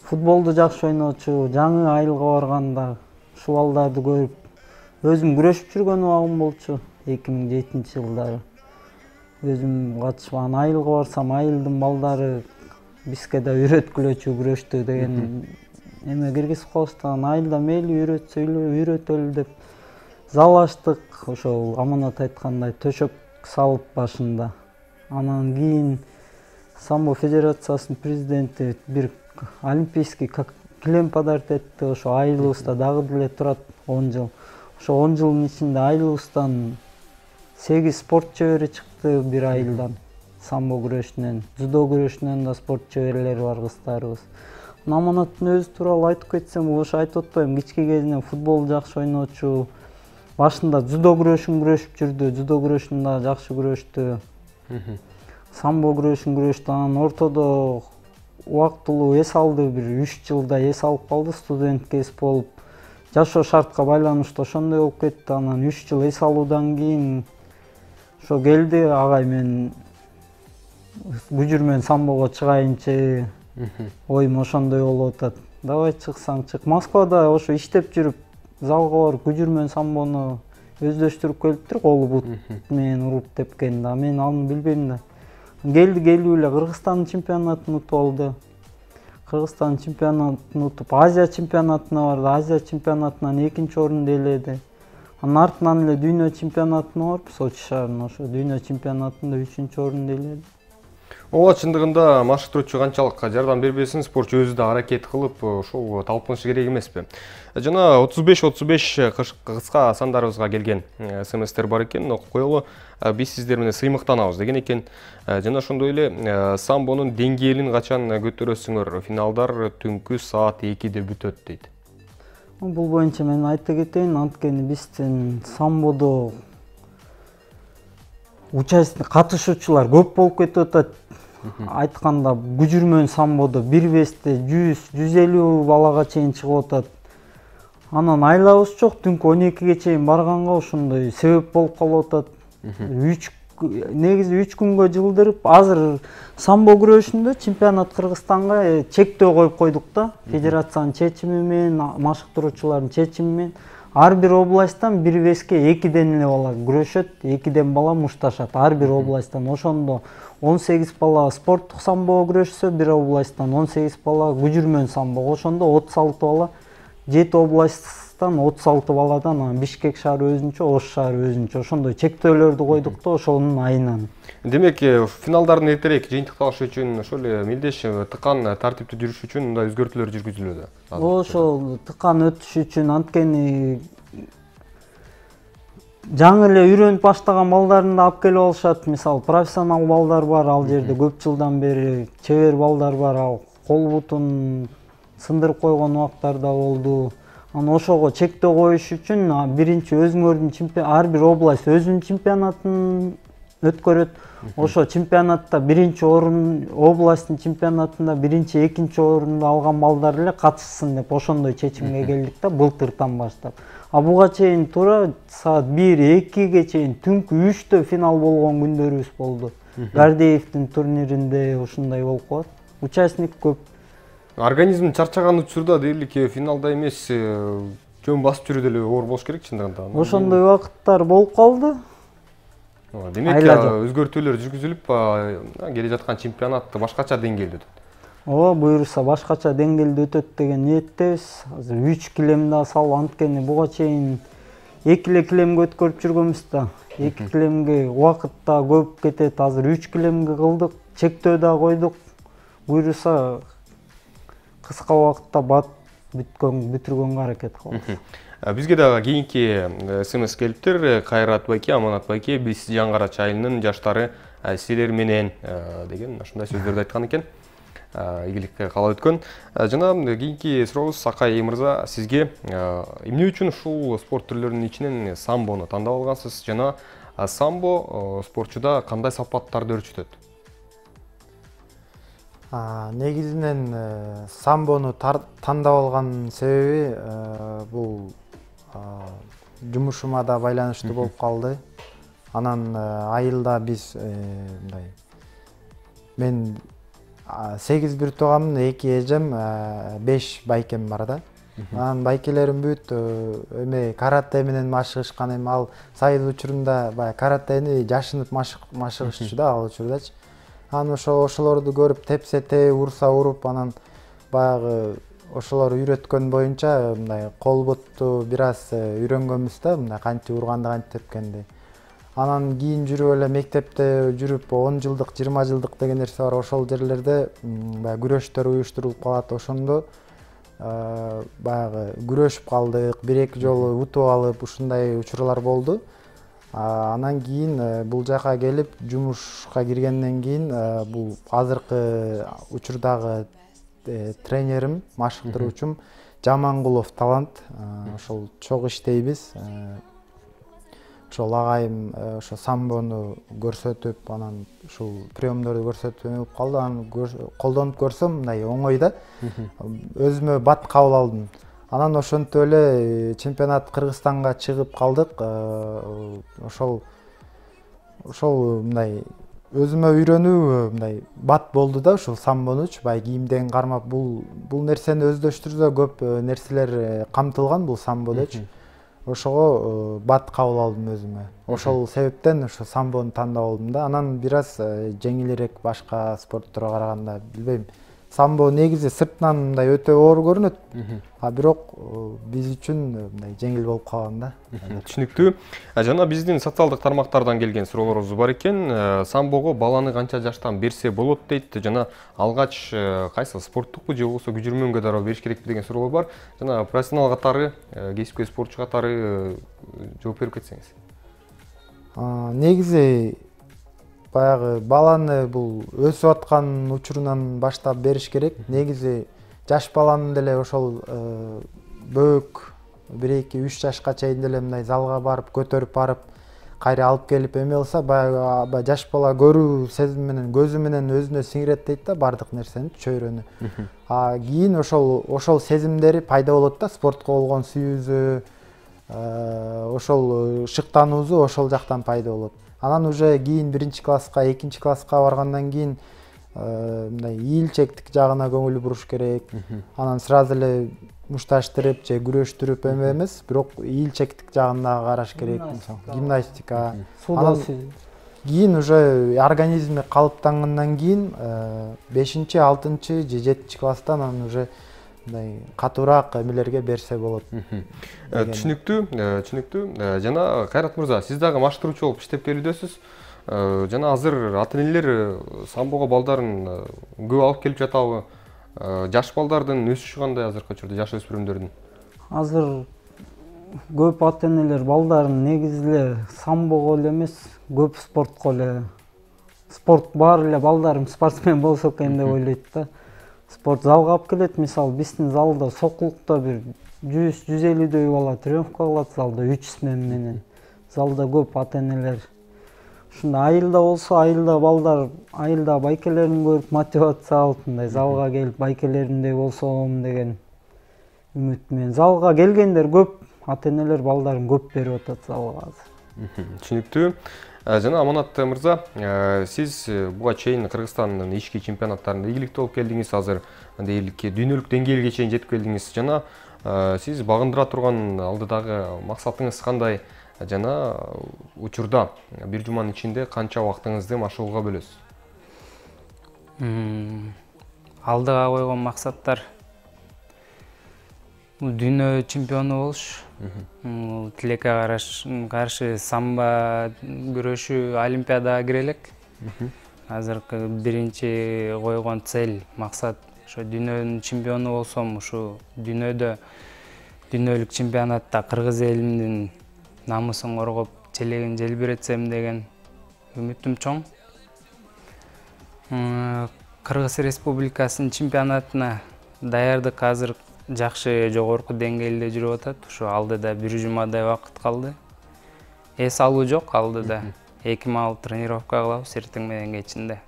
Футболду жакшы ойночу, жаңы айылга барганда ушул балдарды көрүп өзүм күрөшүп жүргөн убагым болчу. 2007-жылдары өзүм катышып, анан айылга барсам, айылдын балдары бизге да үйрөткүлөчү күрөштү деген эме киргизип калышты. Анан айылда мейли үйрөтөлү деп зал ачтык. Ошол Аманат айткандай төшөк салып башында. Анан кийин самбо федерациясынын президенти бир олимпийский килем подарить этти. Ошо айылыбызда дагы деле турат 10 жыл. Ошо 10 жылдын ичинде айылыбыздан 8 спорт чебери чыкты бир айылдан. Самбо күрөшүнөн, дзюдо күрөшүнөн да спорт чеберлери бар кыздарыбыз. Аманаттын өзү тууралуу айтып кетсем, ошо айтып атпайм, кички кезинен футбол жакшы ойночу, башында дзюдо күрөшүн күрөшүп жүрдү, дзюдо күрөшүн да жакшы күрөштү. Самбо күрөшүн күрөштү, анан ортодо убактылуу эс алды, бир 3 жылда эс алып калды, студент кез болуп. Жашоо шартка байланыштуу ошондой болуп кетти. Анан 3 жыл эс алуудан кийин ошо келди, агай мен күжүр менен самбого чыгайынчы, оюм ошондой болуп атат. Давай чыксаң чык. Москвада ошо иштеп жүрүп, залга барып күжүр менен самбону өздөштүрүп келиптир, колу бут менен уруп тепкен да. Мен аны билбейм да. Келди, келип эле Кыргызстандын чемпионатын утуп алды. Кыргызстандын чемпионатын утуп, Азия чемпионатына барды. Азия чемпионатынан 2-нчи орунду ээледи. Анын артынан эле дүйнө чемпионатына барып, Сочи шаарына, ошо дүйнө чемпионатында 3-нчи орунду ээледи. Ооба, чындыгында машыктыруучу канчалык жардам бербесин, спортчу өзү да аракет кылып, ошол талпынышы керек эмеспи? Жана 35-35 кыска сандарыбызга келген СМСтер бар экен, окуп коелу. Биз сиздер менен сыймыктанабыз деген экен. Жана ошондой эле самбонун деңгээлин качан көтөрөсүңөр? Финалдар түнкү саат 2-де бүтөт дейт. Бул боюнча мен айта кетейин, анткени биздин самбодо катышуучулар көп болуп кетип атат. Айтканда күжүр менен самбодо бир весте 100-150 балага чейин чыгып атат. Анан айлабыз жок, түнкү 12ге чейин барганга ошондой себеп болуп калып атат. Негизи 3 күнгө жылдырып, азыр самбо күрөшүндө чемпионат Кыргызстанга чектөө коюп койдук да. Федерациянын чечими менен, машыктыруучулардын чечими менен ар бир областтан бир веске 2ден эле бала күрөшөт, 2ден бала мушташат ар бир областтан. Ошондо 18 бала спорттук самбого күрөшсө, бир областтан 18 бала күжүр менен самбого, ошондо 36 бала 7 областтан 36 баладан Бишкек шаары өзүнчө, Ош шаары өзүнчө, ошондой чектөөлөрдү койдук да ошонун айынан. Демек, финалдардын эртерээк жыйынтыкталышы үчүн ошол эле мелдеш тыкан тартиптүү жүрүш үчүн мындай өзгөртүүлөр жүргүзүлүүдө. Ошол тыкан өтүш үчүн, анткени жаңы эле үйрөнүп баштаган балдарын да алып келип алышат. Мисалы, профессионал балдар бар ал жерде, көп жылдан бери чебер балдар бар, ал кол бутун сындырып койгон убактар да болду. Анан ошого чектөө коюш үчүн биринчи өзүңөрдүн ар бир область өзүнүн чемпионатын өткөрөт. Ошо чемпионатта биринчи орун, областтын чемпионатында биринчи, экинчи орунду алган балдар эле катышсын деп ошондой чечимге келдик да былтыртан баштап. Буга чейин туура саат 1-2ге чейин түнкү 3тө финал болгон күндөрүбүз болду. Гардеевдин турниринде ушундай болуп калат. Участник көп. Организм чарчаган учурда дээрлик финалда эмес, жөн басып жүрүү деле оор болуш керек чындыгында. Ошондой убакыттар болуп калды. Демек, өзгөртүүлөр жүргүзүлүп, келе жаткан чемпионат башкача деңгээлде өтөт. Ооба, буюрса башкача деңгээлде өтөт деген ниеттебиз. Азыр 3 килем да салып, анткени буга чейин 2 эле килемге өткөрүп жүргөнбүз да. 2 килемге убакыт да көп кетет. Азыр 3 килемге кылдык, чектөө да койдук. Буюрса кыска убакытта бүтүргөнгө аракет кылабыз. Бизге дагы кийинки СМС келиптир. Кайрат байке, Аманат байке, биз Жаңгарач айылынын жаштары силер менен деген ушундай сөздөрдү айткан экен. Ийгилик каалап өткөн. Жана кийинки сурообуз Акай мырза, сизге эмне үчүн ушул спорт түрлөрүнүн ичинен самбону тандап алгансыз жана самбо спортчуда кандай сапаттарды өрчүтөт? Негизинен самбону тандап алган себеби бул жумушума да байланыштуу болуп калды. Анан айылда биз мындай, мен 8 бир тууганмын, 2 эжем, 5 байкем бар да. Анан байкелерим бүт эме карате менен машыгышкан, эми ал сайыл учурунда баягы каратени жашынып машыгышчу да ал учурдачы. Анан ошолорду көрүп тепсе теп, урса уруп, анан баягы ошолор үйрөткөн боюнча мындай кол бутту бир аз үйрөнгөнбүз да, мындай канча урганды, канча тепкенди. Анан кийин жүрүп эле мектепте жүрүп 10 жылдык, 20 жылдык деген нерсе бар. Ошол жерлерде баягы күрөштөр уюштурулуп калат. Ошондо баягы күрөшүп калдык, 1-2 жолу утуп алып, ушундай учурлар болду. Анан кийин бул жака келип, жумушка киргенден кийин бул азыркы учурдагы тренерим, машыктыруучум Жамангулов Талант. Ошол чогуу иштейбиз. ошол агайым ошо самбону көрсөтүп, анан ушул приемдорду көрсөтүп эме болуп калды. Анан колдонуп көрсөм мындай оңой да. Өзүмө бат кабыл алдым. Анан ошентип эле чемпионат Кыргызстанга чыгып калдык. Ошол мындай өзүмө үйрөнүү мындай бат болду да, ушул самбонучу баягы кийимден кармап бул нерсени өздөштүрсө көп нерселер камтылган бул самбодочу. Ошого бат кабыл алдым өзүмө. Ошол себептен ошо самбону тандап алдым да. Анан бир аз жеңилирээк башка спортторго караганда, билбейм. Самбо негизи сыртынан мындай өтө оор көрүнөт, а бирок биз үчүн мындай жеңил болуп калган да. Түшүнүктүү. Жана биздин социалдык тармактардан келген суроолорубуз бар экен. Самбого баланы канча жаштан берсе болот дейт. Жана алгач кайсы спорттукпу же болбосо күжүрмөнгө дароо бериш керекпи деген суроолор бар. Жана профессионал катары, кесипкөй спортчу катары жооп берип кетсеңиз. Негизи баягы баланы бул өсүп аткан учурунан баштап бериш керек. Негизи жаш баланы деле ошол бөөк 1-2-3 жашка чейин деле мындай залга барып, көтөрүп барып, кайра алып келип эме кылса, баягы жаш бала көрүү сезими менен, көзү менен өзүнө сиңирет дейт да бардык нерсени, чөйрөнү. Кийин ошол сезимдери пайда болот да, спортко болгон сүйүүсү, ошол шыктануусу ошол жактан пайда болот. Анан уже кийин 1-класска, 2-класска баргандан кийин мындай ийилчектик жагына көңүл буруш керек. Анан сразу эле мушташтырып же күрөштүрүп эме эмес, бирок ийилчектик жагына караш керек. Гимнастика. Анан кийин уже организми калыптангандан кийин 5-6 же 7-класстан анан уже мындай катуураак эмелерге берсе болот. Түшүнүктүү. Жана Кайрат мырза, сиз дагы маштыруучу болуп иштеп келүүдөсүз. Жана азыр ата-энелер самбого балдарын көп алып келип жатабы? Жаш балдардын өсүшү кандай азыркы учурда, жаш өспүрүмдөрдүн? Азыр көп ата-энелер балдарын негизи эле самбого эле эмес, көп спортко эле. Спорт баары эле балдарым спортсмен болсо экен деп ойлойт да. Спорт залга алып келет. Мисалы, биздин залда Сокулукта бир 100-150дөй бала тренировка кылат залда 3 смена менен. Залда көп ата-энелер. Ушунда айылда болсо, айылда балдар, айылда байкелерин көрүп мотивация алып, мындай залга келип байкелеримдей болсом деген үмүт менен. Залга келгендер көп, ата-энелер балдарын көп берип атат залга азыр. Түшүнүктүү. Жана Аманат мырза, сиз буга чейин Кыргызстандын ички чемпионаттарында ийгиликтүү болуп келдиңиз, азыр дээрлик дүйнөлүк деңгээлге чейин жетип келдиңиз. Жана сиз багындыра турган алдыдагы максатыңыз кандай? Жана учурда бир жуманын ичинде канча убактыңызды машыгууга бөлөсүз? Алдыга койгон максаттар дүйнө чемпиону болуш, тилекке каршы самбо күрөшүү олимпиадага кире элек. Азыркы биринчи койгон цель, максат ошо дүйнөнүн чемпиону болсом, ушу дүйнөдө дүйнөлүк чемпионатта кыргыз элимдин намысын коргоп, желегин желбиретсем деген үмүтүм чоң. Кыргыз Республикасынын чемпионатына даярдык азыр жакшы жогорку деңгээлде жүрүп атат. Ушу алдыда бир жумадай убакыт калды. Эс алуу жок алдыда. 2 маал тренировка кылабыз эртең менен кечинде.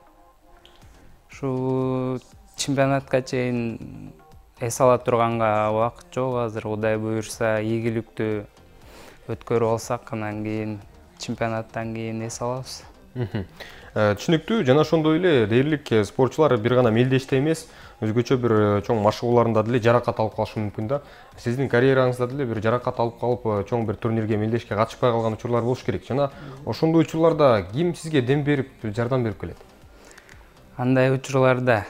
Ушу чемпионатка чейин эс ала турганга убакыт жок азыр. Кудай буюрса, ийгиликтүү өткөрүп алсак, анан кийин чемпионаттан кийин эс алабыз. Түшүнүктүү. Жана ошондой эле дээрлик спортчулар бир гана мелдеште эмес, өзгөчө бир чоң машыгууларында деле жаракат алып калышы мүмкүн да. Сиздин карьераңызда деле бир жаракат алып калып, чоң бир турнирге мелдешке катышпай калган учурлар болуш керек. Жана ошондой учурларда ким сизге дем берип, жардам берип келет? Андай учурларда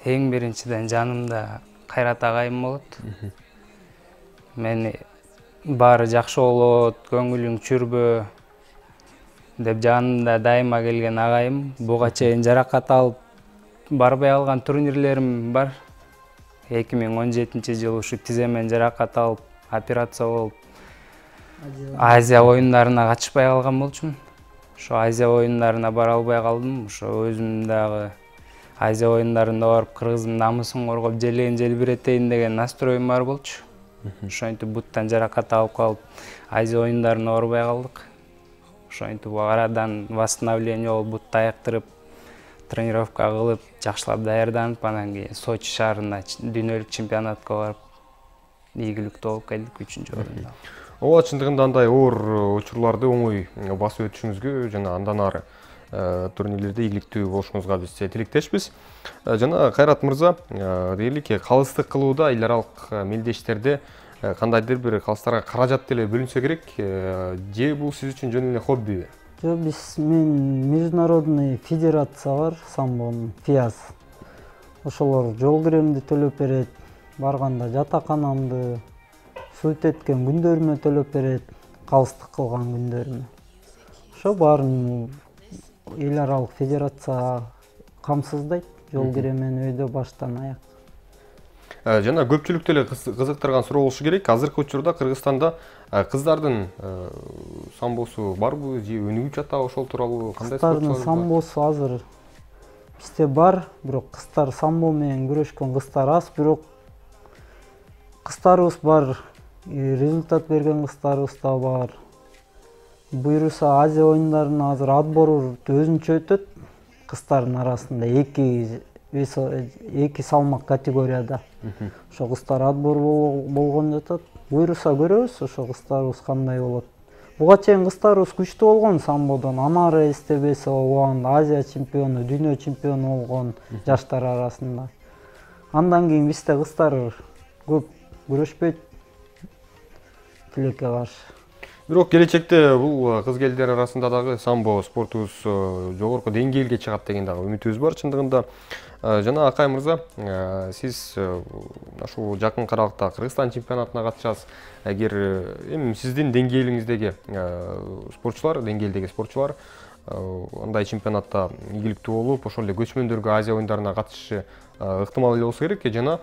эң биринчиден жанымда Кайрат агайым болот. Мени баары жакшы болот, көңүлүң чүрбө деп жанымда дайыма келген агайым. Буга чейин жаракат алып барбай алган турнирлерим бар. 2017 ушу тиземен жаракат алып, операция болуп Азия оюндарына катышпай калган болчумун. Ошо Азия оюндарына бара албай калдым. Ошо өзүм дагы Азия оюндарында барып кыргыздын намысын коргоп, желегин желбиретейин деген настроюм бар болчу. Ошентип буттан жаракат алып калып, Азия оюндарына барбай калдык. Ошентип арадан восстановление болуп, бутты аяктырып, тренировка кылып, жакшылап даярданып, анан кийин Сочи шаарына дүйнөлүк чемпионатка барып, ийгиликтүү болуп келдик 3-орунда. Ооба, чындыгында андай оор учурларды оңой басып өтүшүңүзгө жана андан ары турнирлерде ийгиликтүү болушуңузга биз тилектешпиз. Жана Кайрат мырза, дейлик калыстык кылууда эл аралык мелдештерде кандайдыр бир калыстарга каражат деле бөлүнсө керек, же бул сиз үчүн жөн эле хоббиби? Жок, мен международный федерация бар, самбонун, ФИАС. Ошолор жол киремди төлөп берет, барганда жатаканамды, суут эткен күндөрүмө төлөп берет, калыстык кылган күндөрүмө. Ошо баарын эл аралык федерация камсыздайт, жол киремен өйдө баштан аяк. Жана көпчүлүктү эле кызыктырган суроо болушу керек. Азыркы учурда Кыргызстанда кыздардын самбосу барбы, же өнүгүп жатабы, ошол тууралуу кандай спортчулар? Кыздардын самбосу азыр бизде бар, бирок кыздар самбо менен күрөшкөн кыздар аз, бирок кыздарыбыз бар, результат берген кыздарыбыз да бар. Буюрса Азия оюндарына азыр отбор өзүнчө өтөт, кыздардын арасында эки салмак категорияда. Ошо кыздар отбор болгон жатат. Буюрса көрөбүз, ошо кыздарыбыз кандай болот. Буга чейин кыздарыбыз күчтүү болгон самбодон. Амара Эстебесова убагында Азия чемпиону, дүйнө чемпиону болгон жаштар арасында. Андан кийин бизде кыздар көп күрөшпөйт тилекке каршы. Бирок келечекте бул кыз-келдер арасында дагы самбо спортубуз жогорку деңгээлге чыгат деген дагы үмүтүбүз бар чындыгында. Жана Акай мырза, сиз ушул жакын аралыкта Кыргызстан чемпионатына катышасыз. Эгер эми сиздин деңгээлиңиздеги спортчулар андай чемпионатта ийгиликтүү болуп, ошол эле көчмөндөргө Азия оюндарына катышышы ыктымал эле болсо керек. Жана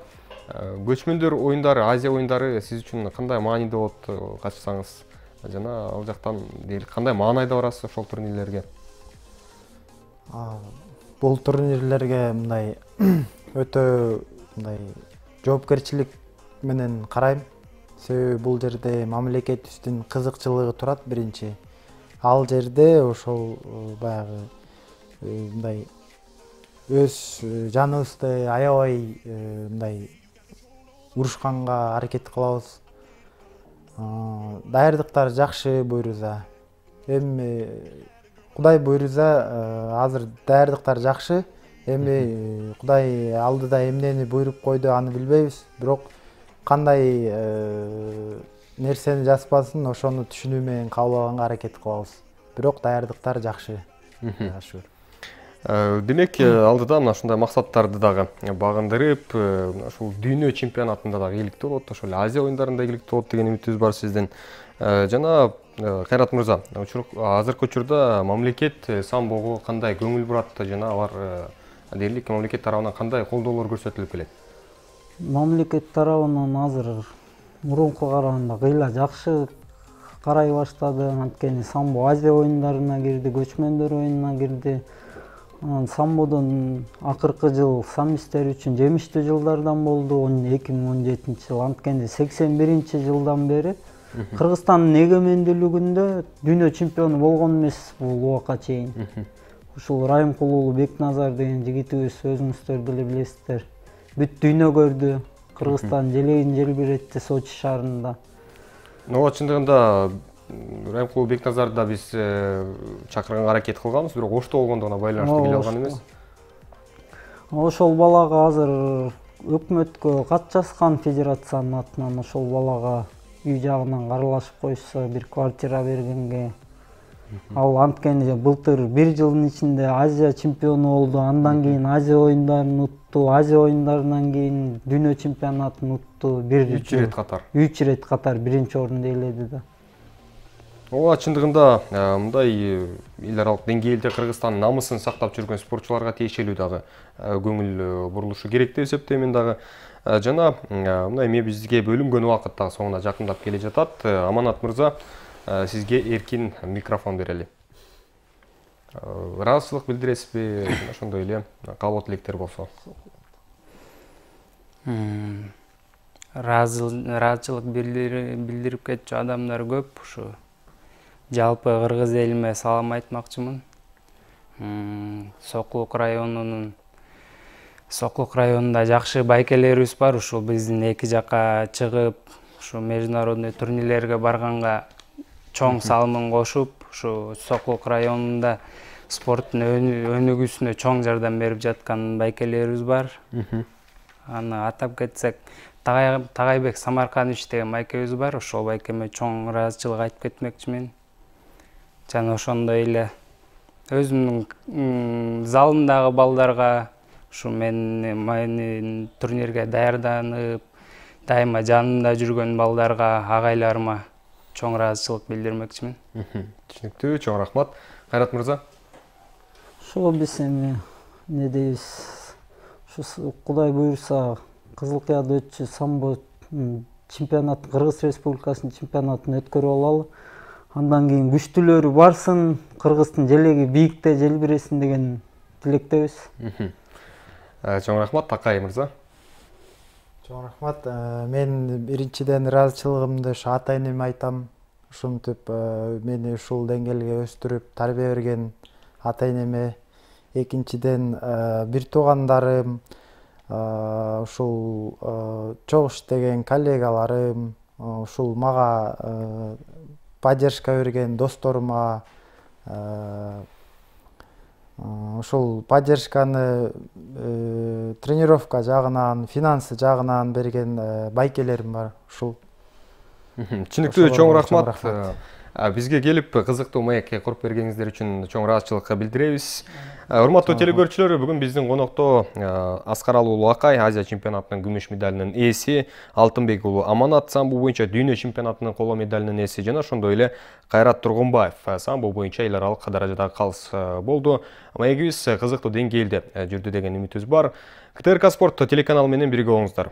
көчмөндөр оюндары, Азия оюндары сиз үчүн кандай маанилүү болот катышсаңыз? Жана ал жактан кандай маанайда барасыз ошол турнирлерге? Бул турнирлерге мындай өтө жоопкерчилик менен карайм. Себеби бул жерде мамлекетибиздин кызыкчылыгы турат биринчи. Ал жерде ошол баягы мындай өз жаныбызды аябай мындай урушканга аракет кылабыз. Даярдыктар жакшы буюрса. Эми Кудай буйрса, азыр даярдыктар жакшы. Эми Кудай алдыда эмнени буйруп койду, аны билбейбиз. Бирок кандай нерсени жазбасын, ошону түшүнүү менен кабыл аракет кылабыз. Бирок даярдыктар жакшы. Демек, алдыда мына ушундай максаттарды дагы багындырып, ушул дүйнө чемпионатында дагы ийгиликтүү болот, ошол Азия оюндарында ийгиликтүү болот деген үмүтүбүз бар сиздин. Жана Кайрат мырза, азыркы учурда мамлекет самбого кандай көңүл бурат, жана алар дээрлик мамлекет тарабынан кандай колдоолор көрсөтүлүп келет? Мамлекет тарабынан азыр мурунку караганда кыйла жакшы карай баштады. Анткени самбо Азия оюндарына кирди, көчмөндөр оюнуна кирди. Самбодон акыркы жыл самбистер үчүн жемиштүү жылдардан болду, 2017-жыл. Анткени 81-жылдан бери Кыргызстандын эгемендүүлүгүндө дүйнө чемпиону болгон эмес бул убакка чейин. Ушул Райымкулуулу Бекназар деген жигитибиз, өзүңүздөр деле билесиздер, бүт дүйнө көрдү. Кыргызстан желегин желбиретти Сочи шаарында. Ооба, чындыгында Райымкулуу Бекназарды да биз чакырганга аракет кылганбыз, бирок ошто болгондугуна байланыштуу келе алган эмес. Ошол балага азыр өкмөткө кат жазган федерациянын атынан, ошол балага үй жагынан каралашып коюшса, бир квартира бергенге. Ал анткени былтыр 1 жылдын ичинде Азия чемпиону болду, андан кийин Азия оюндарын утту, Азия оюндарынан кийин дүйнө чемпионатын утту. 3 рет катар. 3 рет катар биринчи орунду ээледи да. Ооба, чындыгында мындай эл аралык деңгээлде Кыргызстандын намысын сактап жүргөн спортчуларга тиешелүү дагы көңүл бурулушу керек деп эсептейм дагы. Жана мына эми бизге бөлүнгөн убакыт дагы соңуна жакындап келе жатат. Аманат мырза, сизге эркин микрофон берели. Ыраазычылык билдиресизби, ошондой эле каалоо тилектер болсо? ыраазычылык билдирип кетчү адамдар көп. Ушу жалпы Кыргыз элиме салам айтмакчымын. Сокулук районунда жакшы байкелерибиз бар. Ушул биздин эки жакка чыгып, ушу международный турнирлерге барганга чоң салымын кошуп, ушу Сокулук районунда спорттун өнүгүүсүнө чоң жардам берип жаткан байкелерибиз бар. Аны атап кетсек, Тагайбек Самарканович деген байкебиз бар. Ошол байкеме чоң ыраазычылык айтып кетмекчимин. Жана ошондой эле өзүмдүн залымдагы балдарга, ушу мени турнирге даярданып, дайыма жанымда жүргөн балдарга, агайларыма чоң ыраазычылык билдирмекчимин. Түшүнүктүү, чоң рахмат. Кайрат мырза. Ошо биз эми эмне дейбиз? Ушу Кудай буйруса Кызылкыяда өтчү самбо чемпионат, Кыргыз Республикасынын чемпионатын өткөрүп алалы. Андан кийин күчтүүлөрү барсын, Кыргыздын желеги бийикте желбиресин деген тилектебиз. Чоң рахмат, Такай мырза. Чоң рахмат. Мен биринчиден ыраазычылыгымды ата энеме айтам. Ушинтип мени ушул деңгээлге өстүрүп, тарбия берген ата энеме. Экинчиден бир туугандарым, ушул чогуу иштеген коллегаларым, ушул мага поддержка берген досторума, ушул поддержканы тренировка жагынан, финансы жагынан берген байкелерим бар. Ушул. Түшүнүктүү, чоң рахмат. Бизге келип кызыктуу маекке куруп бергениңиздер үчүн чоң ыраазычылык билдиребиз. Урматтуу телекөрүүчүлөр, бүгүн биздин конокто Аскаралы уулу Акай, Азия чемпионатынын күмүш медалинин ээси, Алтынбек уулу Аманат самбо боюнча дүйнө чемпионатынын коло медалинин ээси жана ошондой эле Кайрат Тургунбаев самбо боюнча эл аралык даражадагы калыс болду. Маегибиз кызыктуу деңгээлде жүрдү деген үмүтүбүз бар. КТРК Спорт телеканалы менен бирге болуңуздар.